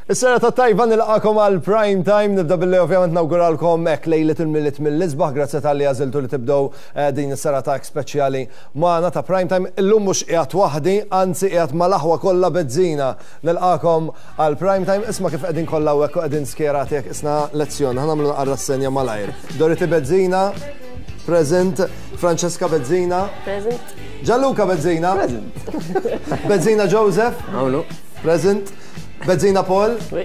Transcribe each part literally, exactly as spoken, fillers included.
Is-serata tajba, nilqagħkom għal Prime Time. Nibda billi ovvjament nawguralkom hekk lejlet il-Milied mill-isbaħ. Grazzi talli għażiltu li tibdew eh, din is-serata hekk speċjali magħna ta' Prime Time. Illum mhux qiegħed waħdi, anzi qiegħed mal-aħwa kollha Bezzina. Nilqagħkom għal Prime Time. Isma' kif qegħdin kollha hekk u qegħdin skjerati hekk isna lezzjoni. Ħa nagħmlu naqra senja malajr. Dorothy Bezzina, present. Francesca Bezzina. Present. Gianluca Bezzina. Present. Bezzina Joseph. Hawn. Present. Bezzina Paul. Oui.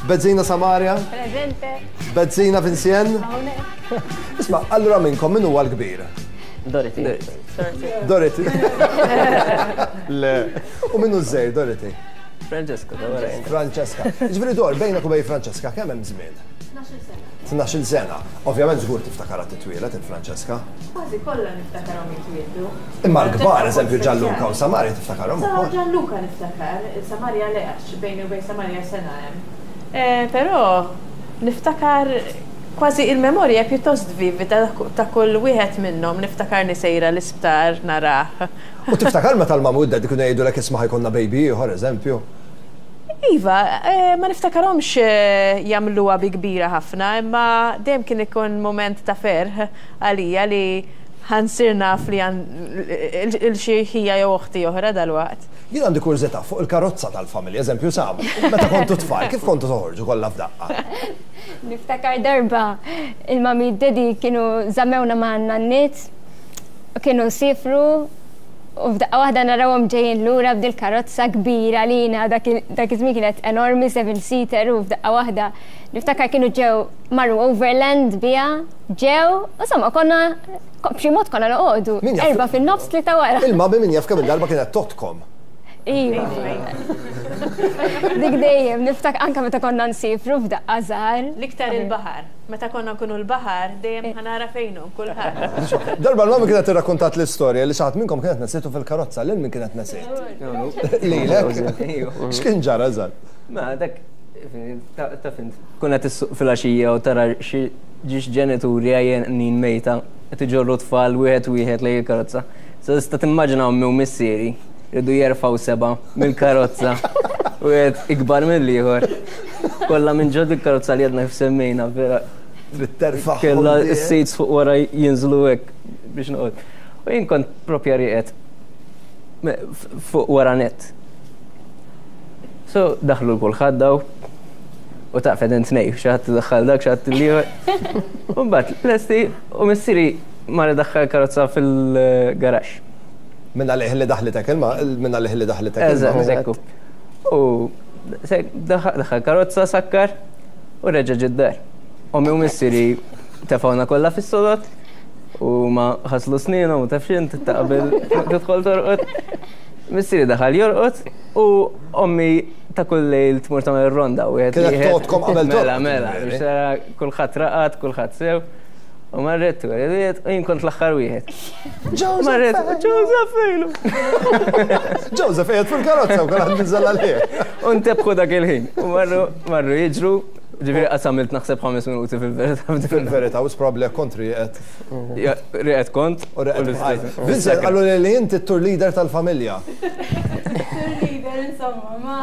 Bezzina Samaria. Presente. Bezzina Vincent. Isma', allura minnkom min huwa l-kbir? Dorothy. Dorothy. Le. U min hu ż-żgħir, Dorothy? Francesco, da wara. Francesca. Ġifieri dor, bejnek u bejn Francesca kemm hemm żmien? tnax-il sena. Ovvjament żgur tiftakarha titwieled il-Francesca. Kważi kollha niftakarhom jitwieldu. Imma l-kbar, eżempju Gianluca u Samaria, tiftakarhom Sa ukoll. Gianluca niftakar, Samaria le, għax bejni u bejn Samaria sena hemm. Eh, Però niftakar kważi il-memorja pjuttost vivida ta' kull wieħed minnhom, niftakar sejra l-isptar narah. U tiftakar meta l-mama u d-daddy kienu jgħidulek, "Isma', ħa jkollna baby ieħor," eżempju? Iva, eh, ma niftakarhomx eh, jagħmluha bi kbira ħafna, imma dejjem kien ikun moment ta' ferħ għalija li ħa nsir naf li għandi xi ħija jew oħti oħra dal-waqt. Jien għandi kurżità fuq il-karozza tal-familja, eżempju Sam, meta kontu tfal, kif kontu toħorġu kollha f'daqqa? Niftakar darba il-mami daddy kienu żammewna ma' nanniet u kienu sifru u f'daqqa waħda narawhom ġejjin lura b'dil karozza kbira lina, dak iż-żmien kienet enormi, seven seater, u f'daqqa waħda niftakar kienu ġew marru overland biha, ġew, insomma konna b'xi mod konna noqogħdu. Min jaf- Erba' fin-nofs, tlieta wara. Il-mami min jaf kemm il-darba kienet tgħoddkom. Iva. Dik dejjem, niftakar anka meta konna nsifru f'daqqa żgħar. L-iktar il-baħar. Meta konna nkunu l-baħar, dejjem ħa nara fejnu kulħadd. Darba l-mami kienet irrakkontat l-istorja li xi ħadd minnkom kienet nesitu fil-karozza, lil min kienet nesiet? Lilek? X'kien ġara eżatt? Ma dak, ta' fint, kuna tissuq fil-għaxija u tara xi ġiex ġenituri għajjenin mejta, qed iġorru tfal wieħed wieħed lejn il-karozza. So tista' timmaġina ommi u missieri rridu jerfgħu seba' mill-karozza. Wieħed ikbar mill-ieħor. Kollha minn ġod il-karozza li għadna kif semmejna, vera. Trid terfa' Kella s-seats fuq wara jinżlu hekk biex noqgħod. U jien kont propja rieqed me- f- fuq wara net. So daħlu kulħadd daw u taf qegħdin tnej, xi ħadd daħħal dak, xi ħadd l-ieħor. U mbagħad lesti u missieri mar daħħal karozza fil-garaxx. Minna liħ li daħlitek ilma, minna liħ li daħlitek Eżatt, ilma. ekku. U se- daħħal daħħal karozza, sakkar u reġa' ġie d-dar. Ommi u missieri tefawna kollha fis-sodod u ma ħaslu sninhom u taf x'int ta' qabel tidħol torqod. Missieri daħal jorqod u ommi ta' kull lejl tmur tagħmel ronda u Kienet tgħoddkom qabel Mela, torqod, mela, ġifieri. biex tara kulħadd raqad, kulħadd sew. U marret u għedet u jien kont l-aħħar wieħed. Marret, "Joseph fejnu?" Joseph qiegħed fil-karozza u kulħadd niżel għalih. U ntebħu dak il-ħin. U marru, marru jiġru, ġifieri qasamilt naħseb ħames minuti fil-verità. Fil-verità, u probably kont rieqed. Ja, rieqed kont. U rieqed. L-istess. Vincent, qallu li li inti t-tour leader tal-familja. Tour leader, insomma, ma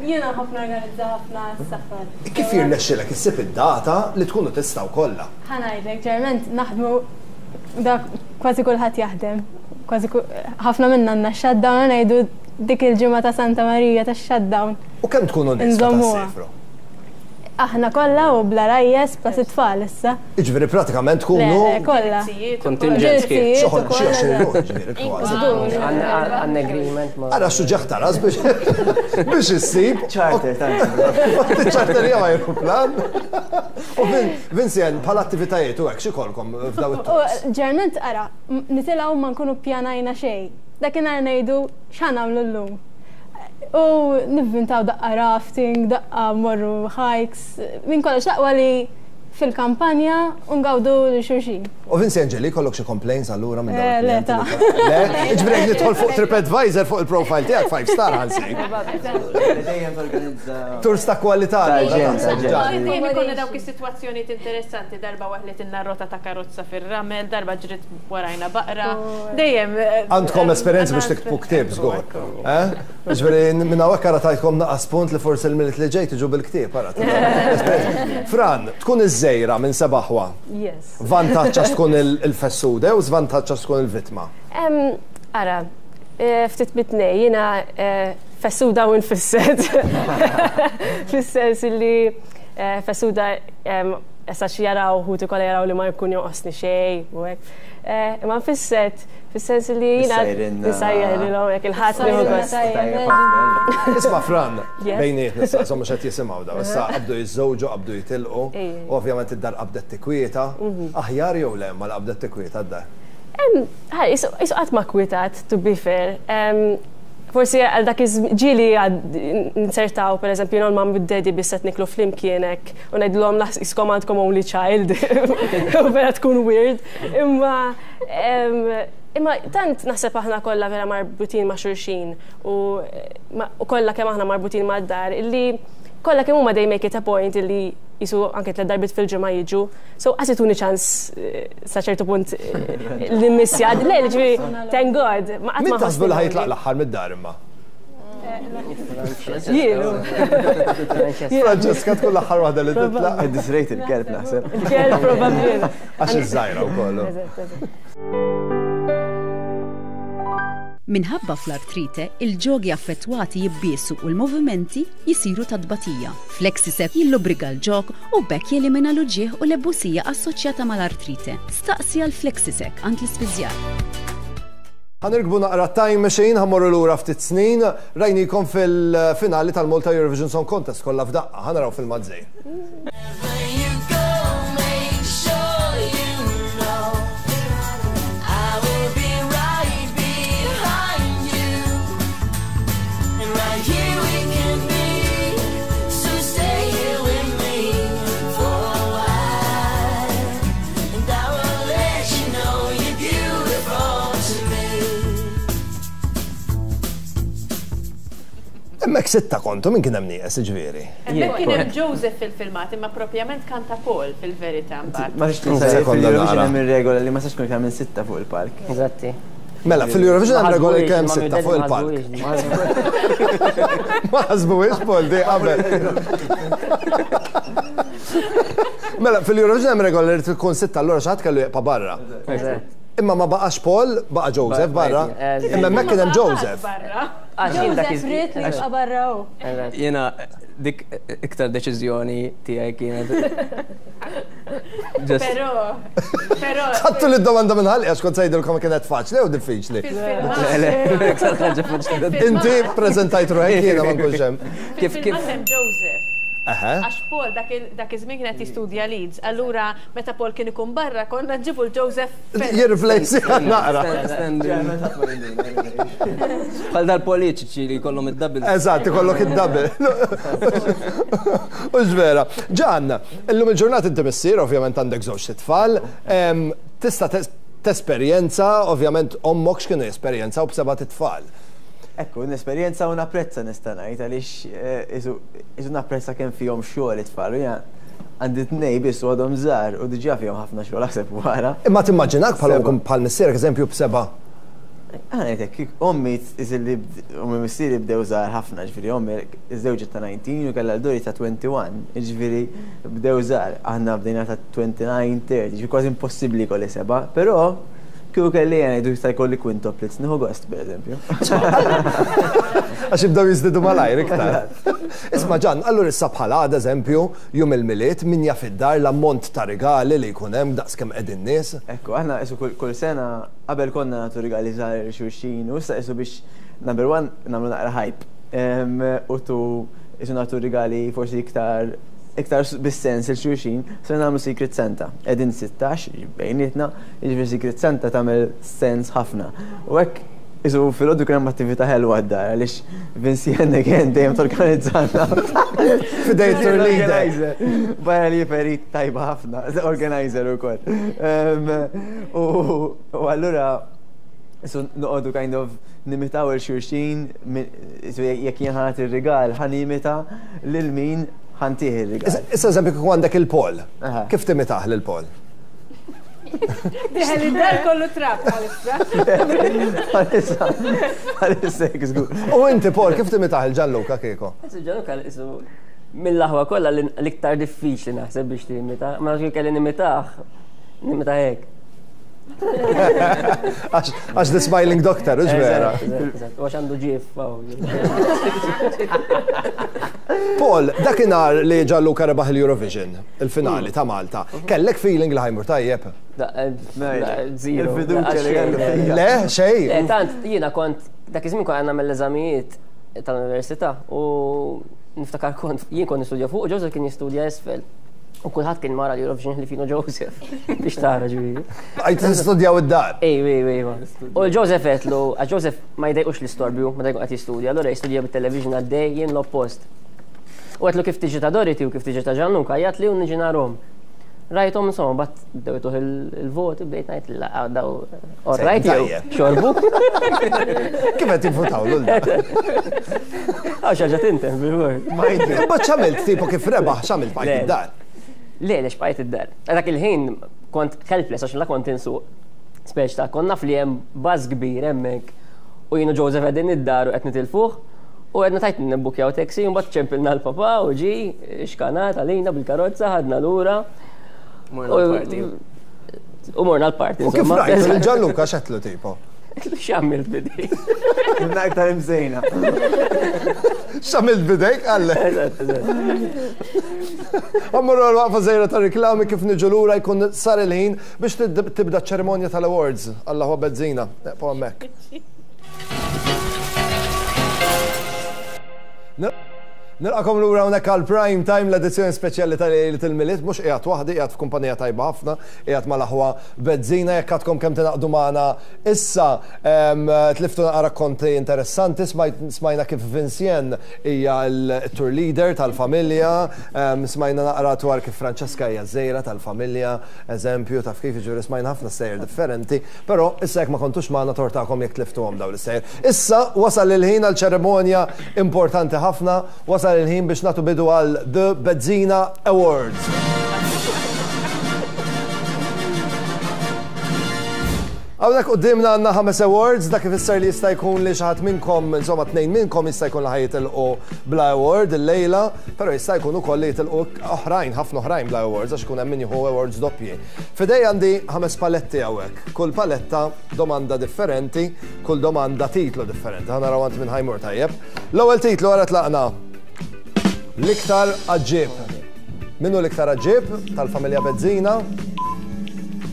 jiena ħafna organizza ħafna s-safar. Kif jirnexxilek issib id-data li tkunu tistgħu kollha? Ħa ngħidlek, ġeneralment naħdmu dak kważi kulħadd jaħdem. Kważi ku- ħafna minna għandna shutdown, ngħidu dik il-ġimgħa ta' Santa Marija ta' shutdown. U kemm tkunu nies meta Nżommuha. ssifru? Aħna kollha u bla rajjes plus it-tfal issa. Iġifieri pratikament Le, tkunu le, kollha. Kontingent sħiħ. Ġilsijiet xoħol ukoll, xi għoxrin eżatt. ruħ, ġifieri kważi. Għandna agreement ma. Ara suġġeħ taras biex biex issib. Charter, tant. Charter jew aeroplan. U Vin- Vincent, bħala attivitajiet u hekk x'ikolkom f'daw U it-tours? ġeneralment ara, m- nitilgħu ma nkunu pjanajna xejn. Dakinhar ngħidu x'ħa nagħmlu llum. U nivvintaw daqqa rafting, daqqa morru hikes, minn kollox, l-aqwa li fil-kampanja u ngawdu lil xulxin. U Vince Angeli, kollok xi complaints allura minn dawn Eh, le, il-klijenti ta' li- Le, ġifieri jekk nidħol fuq TripAdvisor fuq il-profile tiegħek five star ħa nsib. Dejjem torganizza. Tours ta' kwalità. Ta' allura, ġen, taħseb, ta' ġen. Ġan. Dejjem ikollna dawk is-sitwazzjonijiet interessanti, darba waħlitilna rota ta' karozza fir-ramel, darba ġrit warajna baqra. Dejjem. eh, Għandkom esperjenza biex għandna tiktbu ktieb, żgur. Ekku. Eh? Ġifieri minn hawnhekk ara tajtkom naqas punt li forsi l-Milied li ġej tiġu bil-ktieb, ara. Fran, tkun iż-żgħira minn seba' aħwa. Yes. Vantaġġ għax tkun il-fessude u żvantaġġ għax tkun il-vittma. Em, Ara, eh, ftit mit-tnejn, jiena eh, fessuda u nfisset. Fis-sens li eh, fessuda em, issa xi jaraw ħuti kollha jaraw li ma jkun jonqosni xejn u hekk. Eh, Imma nfisset, fis-sens li jiena Issajrinna. nisajjarilhom hekk il-ħadd nieħu gost. Isma' Fran, Yes. bejniet nistaqsu mhux qed jisimgħu daw. Issa qabdu jiżżewġu, qabdu jitilqu, Ej. u ovvjament id-dar qabdet tikwieta. Aħjar jew le ma qabdet tikwieta d-dar? Em, ħa, qisu qisu qatt ma kwitat, to be fair. Em, Forsi għal dak iż ġieli għad nsertaw, per eżempju, jien u l-mom u daddy biss qed niklu flimkien hekk u ngħidulhom qiskom għandkom only child. U vera tkun weird. Imma em, imma tant naħseb aħna kollha vera marbutin ma' xulxin u ma- u kollha kemm aħna marbutin ma' dar illi kollha kemm huma they make it a point illi qisu anke tliet darbiet fil-ġimgħa jiġu. So qas ituni ċans eh, sa ċertu punt eh, li missja. Le, ġifieri, thank God. Ma qatt Min ma taħsbu li ħossni ħa jitlaq l-aħħar mid-dar imma? Jienu. Francesca tkun l-aħħar waħda li titlaq. Disrejt il-kelb naħseb. Il-kelb probabbli. Għax iż-żgħira wkoll. Eżatt, eżatt. Minħabba fl-artrite, il-ġogi affettwati jibbiesu u l-movimenti jisiru ta' tbatija. Flexisec jillubrika l-ġog u b'hekk jelimina l-uġieħ u l-ebusija assoċjata mal-artrite. Staqsi għal Flexisec għand l-ispiżjar. Ħa nirkbu naqra time machine, ħa mmorru lura ftit snin, rajnikom fil-finali tal-Malta Eurovision Song Contest kollha f'daqqa, ħa naraw fil-mazzej. you go, make sure you know I will be right behind you. And right here we can be. So stay here with me for a while. And I will let you know you're beautiful to me. Hemmhekk sitta kontu, min kien hemm nieqes ġifieri? Hemmhekk kien hemm Joseph fil-filmat, imma propjament kanta Paul fil-verità mbagħad. Ma tistax tinsa Sekonda fil-Eurovision nara. hemm ir-regola li ma tistax tkun iktar minn sitta fuq il-palk. Eżatti. Mela, fil-Eurovision hemm regola li kemm sitta fuq il-palk. Ma ħasbuhiex Paul di qabel. Mela, fil-Eurovision hemm regola li tkun sitta, allura xi ħadd kellu jibqa' barra. Imma ma baqax Paul, baqa Joseph barra. Imma hemmhekk kien hemm Joseph. Barra. Joseph ried li jibqa' barra hu. Jiena dik iktar deċiżjoni tiegħi kienet. Just Però, però. Ħadtu li d-domanda minn ħalqi għax kont se ngħidilkom kienet faċli u diffiċli. Fil-filmat. iktar ħaġa faċli. Inti prezentajt ruħek jiena ma nkunx hemm. Kif kif Fil-filmat hemm Joseph. Eħe. Għax Paul dak il- dak iż-żmien kien qed jistudja Leeds. Allura meta Paul kien ikun barra konna nġibu l-Joseph. Jirreplace naqra. Bħal dal-politiċi li jkollhom id-double. Eżatt, ikollok id-double. U vera. Ġan, illum il-ġurnata inti missier, ovvjament għandek żewġ tfal. Em, Tista' tes- tesperjenza, ovvjament ommok x'kienu jesperjenza u b'seba' tfal. Ekku, n-esperjenza u napprezza nista' ngħid għaliex eh, qisu qisu napprezza kemm fihom xogħol it-tfal. u jiena Għandi tnej biss u għadhom żgħar u diġà fihom ħafna xogħol aħseb wara. Imma timmaġinak bħal Seba'. bħal missierek eżempju b'seba'. Għana ngħidlek, kik ommi iżilli ommi missieri bdew żgħar ħafna, ġifieri ommi iżżewġet ta' tmintax u kellha l-Dori ta' wieħed u għoxrin, ġifieri bdew żgħar, aħna bdejna ta' disgħa u tletin, tletin, ġifieri kważi impossibbli kolli seba', però kieku kelli jena jdu jista' jkolli quintuplets, nieħu gost pereżempju. Għax jibdew jiżdiedu malajr iktar. Isma' Ġan, allura issa bħala għad eżempju, jum il-Milied, min jaf id-dar l-ammont ta' rigali li jkun hemm daqs kemm qegħdin nies. Ekku, aħna qisu kull, kull sena qabel konna nagħtu rigali żgħar lil xulxin u issa qisu biex number one nagħmlu naqra hype. Em, U tu qisu nagħtu rigali forsi iktar iktar s- bis-sens lil xulxin, se nagħmlu Secret Santa. Qegħdin sittax bejnietna, jiġifieri Secret Santa tagħmel sens ħafna. U hekk Isu filgħodu kien hemm attività ħelwa d-dar għaliex Vincienne again dejjem torganizzana. Fidej tour leader. Barra li perit tajba ħafna, organizer ukoll. U allura so noqogħdu kind of nimitaw lil xulxin, jekk jien ħa nagħti ir-rigal, ħa nimita lil min ħa ntih ir-rigal. Issa eżempju kieku għandek il-Paul. Kif timitah lil Paul? Dieħel id-dar kollu trab bħalissa. Bħalissa, bħalissa żgur. U inti Paul, kif timitah lil Gianluca kieku? Gianluca isu mill-aħwa kollha l-iktar diffiċli naħseb biex timita. Ma nafx kelli nimitah, nimitah hekk. Għax the smiling doctor, ux vera. U għax għandu ġif. Paul, dakinhar li Gianluca rebaħ il-Eurovision, il-finali ta' Malta, kellek feeling li ħa jmur tajjeb? Zero. Il-fiduċja li kellu fija. Le, xej. Tant, jiena kont, dak iż-żmien kont għandna mill-eżamijiet tal-università u niftakar kont, jien kont nistudja fuq, u Joseph kien jistudja isfel. U kulħadd kien mara l-Eurovision li finu Joseph biex tara ġifieri. Għajt tistudjaw id-dar. Ej, ej, ej. U Joseph għedtlu, għax Joseph ma jdejqux l-istorbju, ma jdejqux qed jistudja, allura jistudja bit-television għaddej jien l-oppost. U għedtlu kif tiġi ta' Dorothy u kif tiġi ta' Gianluca, għajjatli u niġi narahom. Rajthom insomma, bat bdew tuħ il-voti, bdejt ngħid la daw all right jew xorbu. Kif qed jivvutaw lul da? Għax ħaġa tintem bil-word. Imbagħad x'għamilt tipo kif rebaħ x'għamilt bqajt id-dar? Le, lex bqajt id-dar. Dak il-ħin kont helpless għax la kont insuq. Speċ ta' kont naf li hemm baż kbir hemmhekk u jienu Joseph qegħdin id-dar u qed nitilfuh. U għedna tajt nibbukjaw taxi, u mbagħad ċempilna l-papa u ġi xkanat għalina bil-karozza, ħadna lura. Morna l-party. U morna l-party. U kif rajt lil Gianluca x'għedtlu tipo? X'għamilt bidejk? Minna iktar imżejna. X'għamilt bidejk għalle? Ammurru għal-waqfa żgħira ta' riklami kif niġu lura jkun sar il-ħin biex tibda ċ-ċerimonja tal-awards. Alla huwa Bezzina. Neqgħu hemmhekk. Nilqakom lura hawnhekk għal Prime Time, l-edizzjoni speċjali tal-Lejlet il-Milied, mhux qiegħed waħdi, qiegħed f'kumpanija tajba ħafna, qiegħed mal-aħwa Bezzina, jekk għadkom kemm tingħaqdu magħna issa, tliftu naqra rakkonti interessanti, smajna kif Vincienne hija l-tour leader tal-familja, smajna naqra dwar kif Francesca hija żejra tal-familja, eżempju taf kif jiġri smajna ħafna sejjer differenti, però issa jekk ma kontux magħna tortakom jekk tliftuhom dawn is-sejjer. Issa wasal il-ħin għal ċerimonja importanti ħafna, wasal il-ħin biex nagħtu bidu għal The Bezzina Awards. Hawnhekk quddiemna għandna ħames awards, dak ifisser li jista' jkun li xi ħadd minnkom, insomma tnejn minnkom jista' jkun li ħa jitilqu bla award illejla, però jista' jkun ukoll li jitilqu oħrajn, ħafna oħrajn bla awards għax ikun hemm min jieħu awards doppji. F'idej għandi ħames paletti hawnhekk. Kull paletta domanda differenti, kull domanda titlu differenti. Ħa naraw għand min ħa jmur tajjeb. L-ewwel titlu wara tlaqna. L-iktar għaġġib. Minnu l-iktar għaġġib tal-familja Bezzina?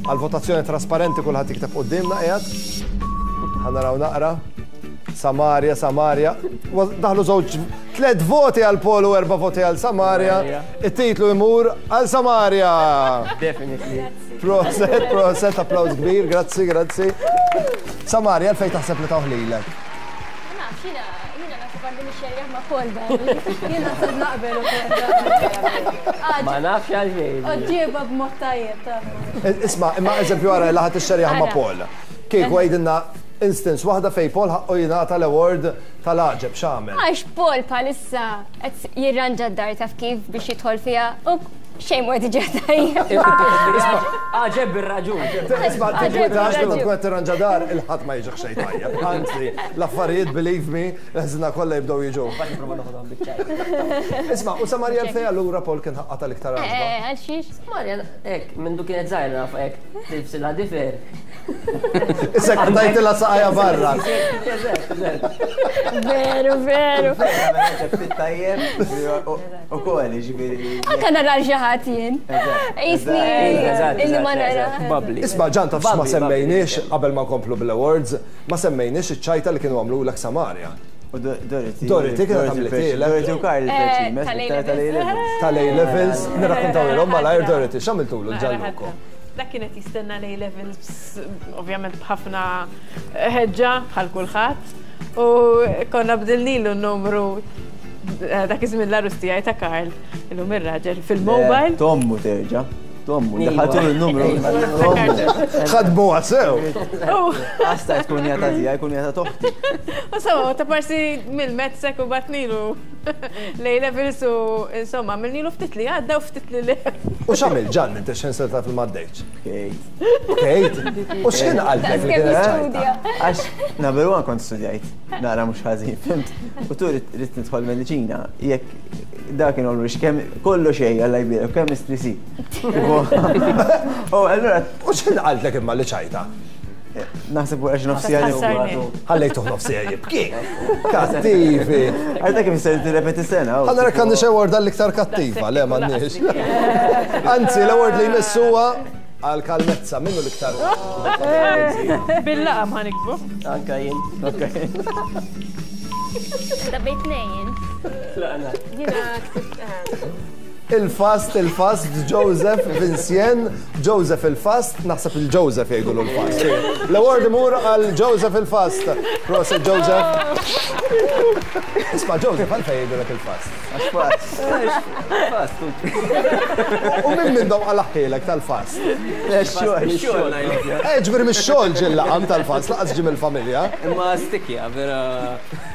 Għal-votazzjoni trasparenti kulħadd jikteb quddiemna qiegħed. Ħa naraw naqra. Samaria, Samaria. Daħlu żewġ tliet voti għal Paul u erba' voti għal Samaria. It-titlu jmur għal Samaria. Definitely. Proset, proset, applaus kbir, grazzi, grazzi. Samaria, għalfejn taħseb li tawh lilek? Ma nafx, jiena jiena naħseb għandi nixxerjaħ ma' Paul dan. Jien naħseb naqbel ukoll. Ma nafx għalfejn. Oġġieba b'mod tajjeb taf. Isma', imma eżempju għara li ħadd ixxerjaħ ma' Paul. Kieku għidilna instance waħda fej Paul ħaqqu jingħata l-award tal-għaġeb x'għamel. Għax Paul bħalissa qed jirranġa d-dar taf kif biex jidħol fiha u xejn mhu qed jiġi tajjeb. Għaġeb bir-raġun. Isma' tinkwetax li tkun qed tirranġa dar il-ħadd ma jiġix xejn tajjeb. Anzi, l-affarijiet believe me, l-ħżina kollha jibdew jiġu. Isma' u Samaria l-fej allura Paul kien ħaqqa tal-iktar għaġba. Eh, għal xiex? Samaria, hekk, minn du kienet żgħira naf hekk, tilbsilha difer. Issa qtajtilha saqajja barra. Veru, veru. Tajjeb, u koll, ġifieri. Anka nara xi ħadd jien. Isni, illi ma nara. Isma' ġan taf ma semmejniex qabel ma nkomplu bil-awards, ma semmejniex iċ-ċajta li kienu għamlu lek Samaria. U Dorothy. Dorothy kienet għamlitilek. Dorothy u Karl Eh, tal-A levels. Tal-A levels, nirrakkontaw ilhom malajr Dorothy, x'għamiltulu Gianluca? Dak kienet jistenna l-A levels, ovvjament b'ħafna ħeġġa bħal kulħadd. U konna bdilnilu n-numru dak iż-żmien l-arus tiegħi ta' Karl, illum ir-raġel fil-mobile. Tommu terġa'. Tommu, daħħaltu l-numru. Ħadmu sew. Għasta tkun jata tiegħi, jkun jata toħti. U so, ta' parsi mill-mezzek u batnilu l-A levels u insomma, għamilnilu ftit li għadda u ftit li le. U x'għamil Ġan inti x'ħin sirt taf li m'għaddejtx? Bkejt. Bkejt? U x'kien qalbek li kienet ċajta? Għax number one kont studjajt, nara mhux ħażin, fimt? U tu rrid nidħol mediċina, jekk dak kien always kemm kollu xejn Alla jbierek, chemistry si. U allura U x'kien qaltlek imma li ċajta? Naħseb wara xi nofsija Tħassarni. Ħallejtuh nofsija jibki. Kattivi. Għadha kif se tirrepeti sena. Ħa nara għandna xi award għall-iktar kattiva, le m'għandniex. Anzi, l-award li jmiss huwa għal kalmezza, minnu l-iktar. Bil-laqam ħa niktbu. Anka jien. Da bejt nejn. Tlaqna. Jiena ktibt Il-fast, il-fast, Joseph, Vincent, Joseph il-fast, naħseb il-Joseph jgħidu l-fast. L-award imur għal Joseph il-fast. Prosit Joseph. Isma' Joseph, għalfejn jgħidulek il-fast. Għax fast. Fast. U minn minnhom għal tal-fast. Xogħol, Xogħol ngħidlek. Eh, ġifieri mix-xogħol ġie l-laqam tal-fast, laqas ġie mill-familja. Imma stikja, vera.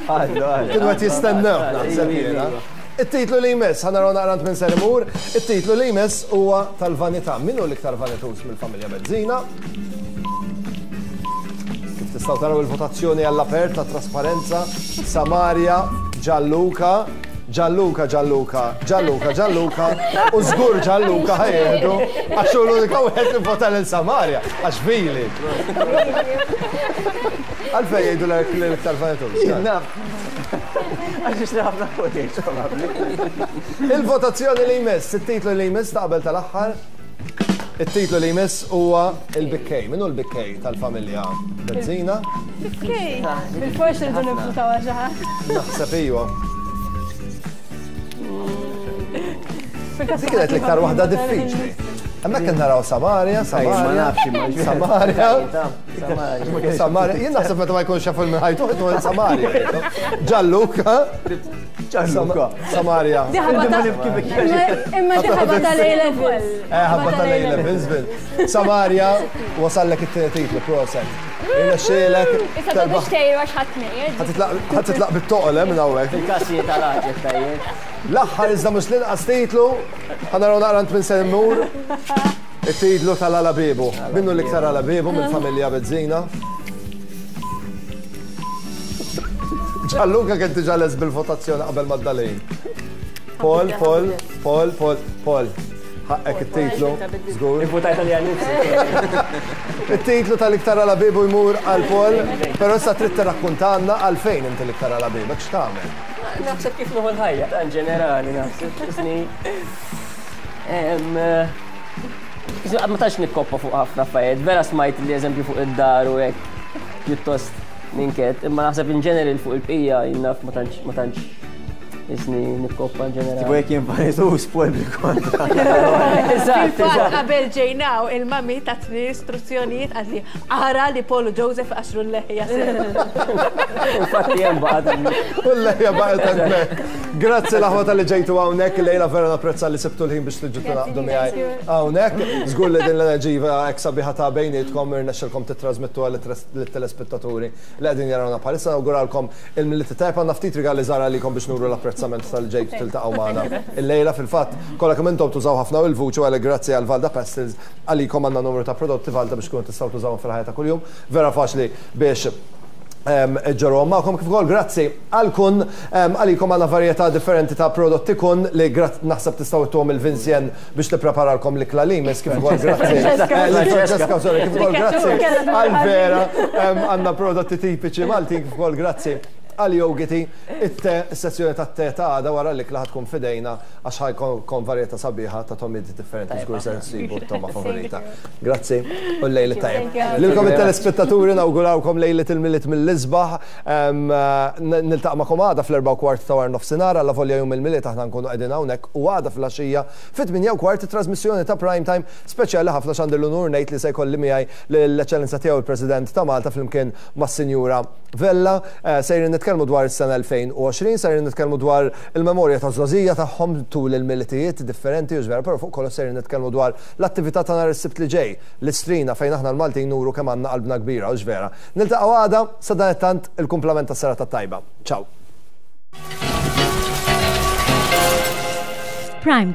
Għallu, għallu. Kienu qed jistennew naħseb jiena. It-titlu li jmiss, ħa naraw naqra minn ser imur, it-titlu li jmiss huwa tal-vanità. Min hu l-iktar vanituż mill-familja Bezzina? Kif tistgħu taraw il-votazzjoni għall-apert ta' trasparenza, Samaria, Gianluca, Gianluca, Gianluca, Gianluca, Gianluca, u żgur Gianluca ħa jieħdu, għax hu l-unika wieħed li vota lil Samaria, għax vili. Għalfejn jgħidu l-iktar vanituż. Naf. Għax nixtri ħafna footage, probabbli. Il-votazzjoni li jmiss, it-titlu li jmiss ta' qabel tal-aħħar, it-titlu li jmiss huwa il-bikkej. Min hu l-bikkej tal-familja Bezzina? Bikkej. Bil-forsi rridu nivvutaw għal xi ħadd. Naħseb iwa. Dik kienet l-iktar waħda diffiċli. Hemmhekk qed naraw Samaria, Ma Samaria, nafx imma. Samaria, Samaria. Samaria. Jien naħseb meta ma jkunx jafu minn ħajtu, ħajtu Samaria. Gianluca, Gianluca. Samaria. Di ħabba ta' imma di ħabba ta' A levels. Eh, ħabba tal-A levels, bil. Samaria, wasallek it-tieni titlu, proset. Irnexxielek Issa ta' terbaħ. biex tgħidu għax ħadd nejn. Ħa titlaq bit-toqol eh, minn hawnhekk. Il-kassi tal-ħaġa tajjeb. L-aħħar iżda mhux l-inqas titlu, ħa naraw naqra minn se mmur. It-titlu tal-Alabibu. Minnu l-iktar Alabibu mill-familja Bezzina. Gianluca kien diġà les bil-votazzjoni qabel ma d-dalin. Paul, Paul, Paul, Paul, Paul. Ħaqqek it-titlu, żgur. Ivvutajt għalija nnifsi. It-titlu tal-iktar Alabibu jmur għal Paul, però issa trid tirrakkuntanna għalfejn inti l-iktar Alabibu, x'tagħmel? Naħseb kif nieħu l-ħajja, ta' in ġenerali, naħseb. Isni. Ma tantx nikkoppa fuq ħafna affarijiet, vera smajt li eżempju fuq id-dar u hekk pjuttost ninket, imma naħseb in ġeneral fuq il-bqija jien naf ma tantx ma tantx isni nikkoppa in Tipo ġenerali. jekk jien vanitus, Paul bil-kontra. Eżatt, Fil-fatt eżatt. qabel ġejnaw il-mami tatni istruzzjonijiet għadli ara li Paul u Joseph għaxru l-leħja sew. Infatti hemm baqgħet. U l-lejja baqgħet hemmhekk. Grazzi l-aħwa tal-li ġejtu hawnhekk, lejla vera napprezza li sibtu l-ħin biex tiġu tingħaqdu miegħi hawnhekk. Żgur li din l-enerġija hekk sabiħa ta' bejnietkom irnexxilkom titrasmettuha lit-telespettaturi li qegħdin jarawna bħalissa. Nawguralkom il-Milied tajjeb, għandna ftit rigali żgħar għalikom biex nuru l-apprezzament tal-ġejtu tiltaqgħu magħna. Illejla fil-fatt kollha kemm intom tużaw ħafna il-vuċi u għalhekk grazzi għal Valda Pastels għalikom għandna numru ta' prodotti Valda biex tkunu tistgħu tużawhom fil-ħajja ta' kuljum. Vera faċli biex ġorru magħkom kif ukoll grazzi għal kun għalikom għandna varjetà differenti ta' prodotti kun li naħseb tistgħu ittuhom il-Vincent biex tippreparalkom l-ikla li jmiss kif ukoll grazzi. Francesca, sorry, kif ukoll grazzi għal Vera għandna prodotti tipiċi Maltin kif ukoll grazzi Għal Yogiti, it-te, is-sessjoni tat-te ta' għada wara l-ikla ħa tkun f'idejna għax ħa jkun varjetà sabiħa ta' togħmiet differenti, żgur se nsibu t-togħma favorita. Grazzi u lejl it-tajjeb. Lilkom it-telespettaturi nawgurawkom lejlet il-Milied mill-isbaħ. Niltaqa' magħkom għada fl-erba' u kwart ta' wara nofsinhar, alla volja jum il-Milied aħna nkunu qegħdin hawnhekk, u għada fil-għaxija fit-tmienja u kwart trasmissjoni ta' Prime Time speċjali ħafna, għandi l-unur ngħid li se jkolli miegħi l-Eċċellenza tiegħu il-President ta' Malta flimkien mas-Sinjura Vella. Sejrin nitkellmu dwar is-sena elfejn u għoxrin, sejrin nitkellmu dwar il-memorja ta' żgħożija tagħhom tul il-Militijiet differenti u vera, però fuq kollox sejrin nitkellmu dwar l-attività ta' nhar is-Sibt li ġej, l-Istrina, fejn aħna l-Maltin nuru kemm għandna qalbna kbira u vera. Niltaqgħu għada, sadanittant il-kumplament tas-serata tajba. Ciao. Prime.